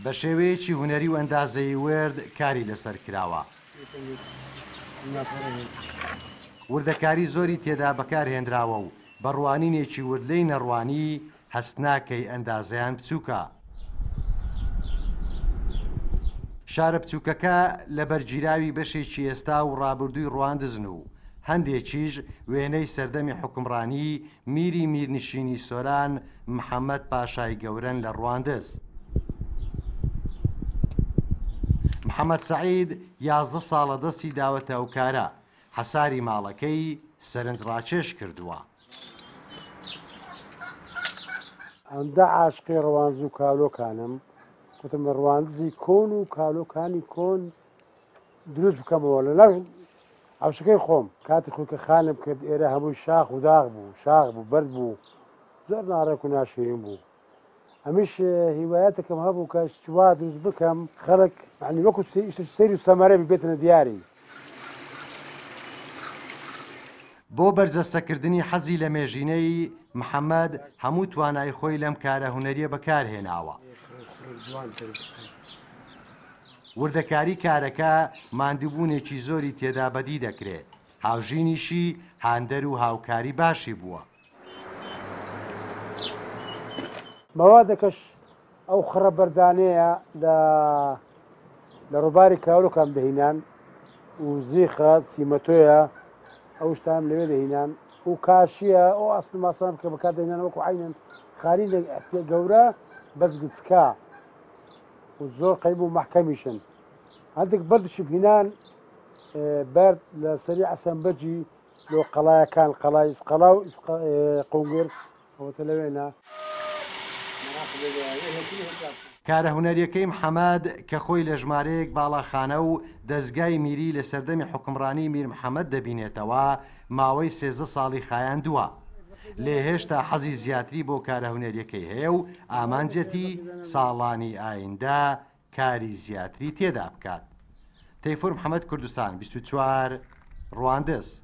بە شێوەیەکی هونەری و ئەندازەیی ورد کاری لەسەر کراوە. وردەکاری زۆری تێدا بەکار هێنراوە و بە ڕوانینێکی ورد لێی نەڕوانی هەست ناکەی ئەندازەیان بچووکە. شارە بچووکەکە لە بەرگیراوی بەشێکی ئێستا و ڕابردووی ڕواندزن و هەندێکیش وێنەی سەردەمی حوکمڕانی میری میرنشینی سۆران محەمەد پاشای گەورەن لە ڕواندز. محەمەد سەعید 11 ساڵە دەستی داوەتە ئەو کارە، حەساری ماڵەکەی سەرنجڕاکێش کردووە. ئەندە عاشقی ڕواندز و کالۆکانم، گوتم ڕواندزی کۆن و کالۆکانی کۆن دروست بکەمەوە لە ناو حەوشەکەی خۆم. کاتی خۆی کە خانم کرد ئێرە هەمووی شاخ و داغ بوو، شاخ بوو، بەرد بوو، زۆر ناڕێک و ناشیرین بوو. ئەمیش هیوایەتێکم هەبوو کە وا دروست بکەم خەڵک یانی وەکو سەیر و سەمەرە بی بێتنە دیاری. بۆ بەرجەستەکردنی حەزی لەمێژینەی، محەمەد هەموو توانای خۆی لەم کارە هونەریە بەکارهێناوە. وردەکاری کارەکە ماندووبوونێکی زۆری تێدا بەدی دەکرێ، هاوژینیشی هاندەر و هاوکاری باشی بووە. مەوادەکەش ئەو خڕە بەردانەیە لە لە ڕووباری کاولۆکان دەهینان و زیخە چیمەتۆیە ئەو شتانم لەوێ دەهینان و کاشیە ئەو ئاسن و ماسانە کە بەکار دەهینان وەکو عینەن خالی لە گەورە بەس گچکە و زۆر قەیم و مەحکەمیشن هەندێک بەردشم هینان بەرد لە سەری عەسەنبەجی لۆ قەڵایەکان قەڵای ئیسقەڵا و قونگر ئەوەتە لەوێنە. کارە هونەریەکەی محەمەد کە خۆی لە ژمارەیەک باڵاخانە و دەزگای میری لە سەردەمی حوکمڕانی میر محەمەد دەبینێتەوە، ماوەی 13 ساڵی خایاندووە. لێ هێشتا حەزی زیاتری بۆ کارە هونەریەکەی هەیە و ئامانجیەتی ساڵانی ئایندە کاری زیاتری تێدا بکات. تەیفور محەمەد کوردستان 24 ڕواندز.